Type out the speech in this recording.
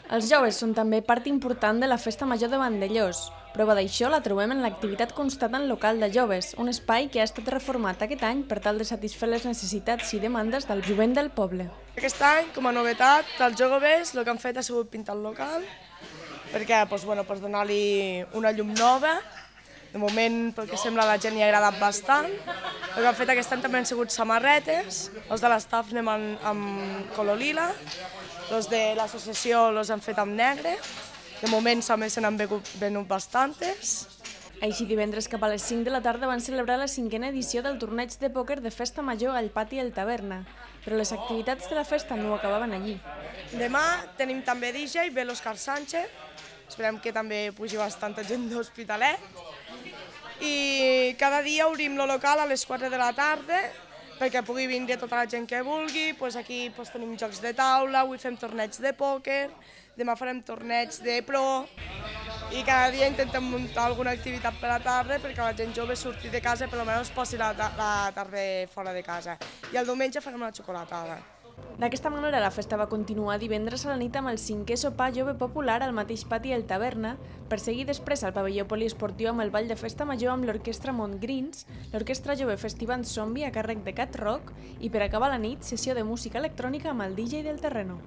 Els joves són també part important de la Festa Major de Vandellòs. Prova d'això la trobem en l'activitat constant local de joves, un espai que ha estat reformat aquest any per tal de satisfer les necessitats i demandes del jovent del poble. Aquest any, com a novetat, els joves el que han fet ha sigut pintar el local, perquè per donar-li una llum nova. De moment, pel que sembla, a la gent hi ha agradat bastant. El que han fet aquest any també han sigut samarretes, els de l'estaf anem amb color lila, els de l'associació els han fet amb negre. De moment també se n'han venut bastantes. Així, divendres cap a les 5 de la tarda van celebrar la 5a edició del torneig de pòquer de Festa Major al Pati El Taverna, però les activitats de la festa no acabaven allí. Demà tenim també DJ, ve l'Òscar Sánchez, esperem que també pugi bastanta gent d'Hospitalet. I cada dia obrim el local a les 4 de la tarda perquè pugui vindre tota la gent que vulgui. Aquí tenim jocs de taula, avui fem torneig de pòquer, demà farem torneig de pro i cada dia intentem muntar alguna activitat per la tarda perquè la gent jove surti de casa i per almenys posi la tarda fora de casa. I el diumenge farem una xocolatada. D'aquesta manera, la festa va continuar divendres a la nit amb el 5è sopar jove popular al mateix pati El Taverna, per seguir després al pavelló poliesportiu amb el ball de festa major amb l'orquestra Montgrins, l'orquestra jove Festivant Zombie a càrrec de Cat Rock i per acabar la nit, sessió de música electrònica amb el DJ del Terreno.